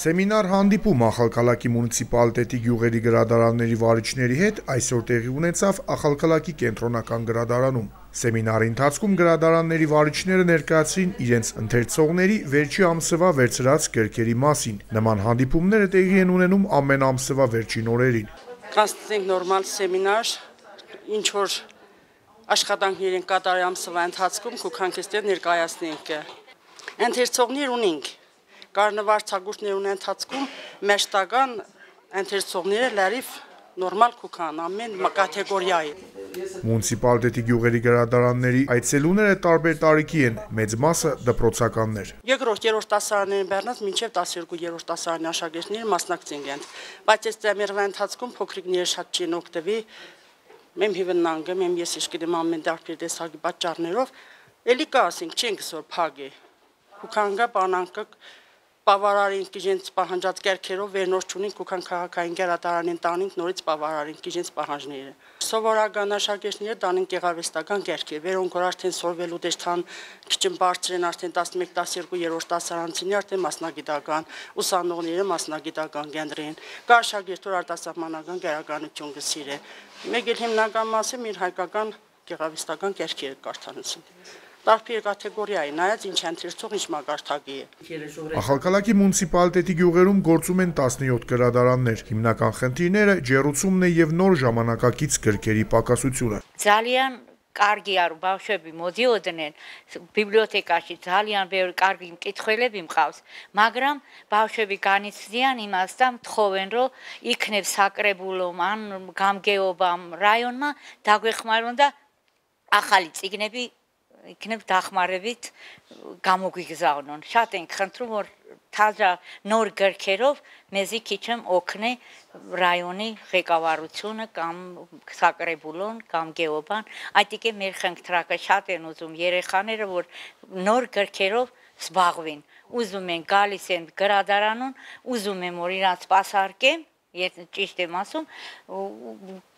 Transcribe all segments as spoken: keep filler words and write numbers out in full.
Սեմինար հանդիպում Ախալքալակի մունիցիպալիտետի գյուղերի գրադարանների վարիչների հետ այսօր տեղի ունեցավ Ախալքալակի կենտրոնական գրադարանում։ Սեմինարի ընթացքում գրադարանների վարիչները ներկայացրին իրենց ընթերցողների վերջի ամսվա վերցրած գրքերի մասին։ Նման հանդիպումները տեղի են ունենում ամեն ամսվա վերջին օրերին։ Կանցնենք նորմալ սեմինար, ինչ որ աշխատանքներ են կատարել ամսվա ընթացքում, քուքանքստեր ներկայացնենք։ Ընթերցողներ ունենք, կարնվարցագործներ ունեն ընթացքում մեջտական ընթերցողները լրիվ նորմալ քուքան, ամեն կատեգորիայի։ Մունիցիպալիտետի գյուղերի գրադարանների այցելուները տարբեր տարիքի են, մեծ մասը դպրոցականներ։ Երկրորդ, երրորդ դասարաններին բեռնած մինչև տասներկու երրորդ դասարանի աշակերտները մասնակցին են, բայց այս ծեմերվա ընթացքում փոքրիկները շատ չեն օգտվի, մեմ հիվնանգը, մեմ ես ինչ գիտեմ ամեն տարբեր տեսակի պատճառներով, էլի կա ասենք չենք սոր փագի։ Քուքանգա բանանկը Պավարարին կիժենց պահանջած կերքերով վերնորդ չունին քուքան քաղաքային գերադարանին տանինք նորից պավարարին կիժենց պահանջները։ Սովորական աշակերտները տանին գեղարվեստական կերքեր, վերոնք որ արդեն սորվելու դեշտան քիչ բարձր են արդեն տասնմեկ տասներկու երրորդ դասարանցիները արդեն մասնագիտական, ուսանողները մասնագիտական կենտրին, կա աշակերտ որ արտասահմանական գերականություն կսիրե։ Մեկ էլ հիմնական մասը մեր հայկական գեղարվեստական կերքերը կարդանություն։ Տարբեր կատեգորիայի, նայած ինչ ընթերցող ինչ մակարդակի է։ Ախալքալակի մունիցիպալիտետի գյուղերում գործում են տասնյոթ գրադարաններ։ Հիմնական խնդիրները ջեռուցումն է եւ նոր ժամանակակից գրքերի պակասությունը։ Ძალიან կարგი არ բავშვები մոդիոդն են բիբլիոթեկაში ძალიან ბევր կարგი մկითხველები մყავს, მაგრამ բავშვები განიცდიან იმასთან თხოვენ რომ იქნებ საკრებულომ ან გამგეობამ რაიონმა დაგვეხმარონ და ახალი წიგნები იქნებ დახმარებით გამოგვიგზავნონ. Շատ ենք խնդրում որ թազա նոր գրքերով մեզի քիչմ օգնի ռայոնի ղեկավարությունը կամ սակրեբուլոն կամ գեոբան այդ է մեր խնդրակը շատ են ուզում երեխաները որ նոր գրքերով զբաղվին ուզում են գալիս են գրադարանում ուզում եմ որ իրանց սպասարկեմ եթե ճիշտ եմ ասում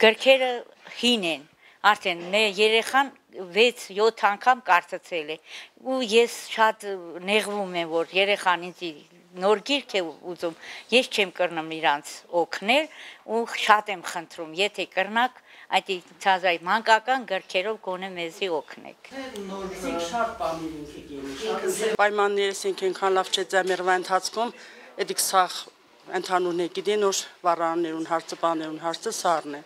գրքերը հին են արդեն մեր երեխան վեց յոթ անգամ կարծացել է ու ես շատ նեղվում եմ որ երեխան ինձ նոր գիրք է ուզում ես չեմ կրնում իրանց օգնել ու շատ եմ խնդրում եթե կրնակ այդ ցազայ մանկական գրքերով գոնե մեզի օգնեք նոր շատ բաներ ենք գինի պայմաններս ենք այնքան լավ չէ ձմեռվա ընթացքում էդիկ սախ ընդհանուրն է գիտեն որ վառաններուն հարցը բաներուն հարցը սառն է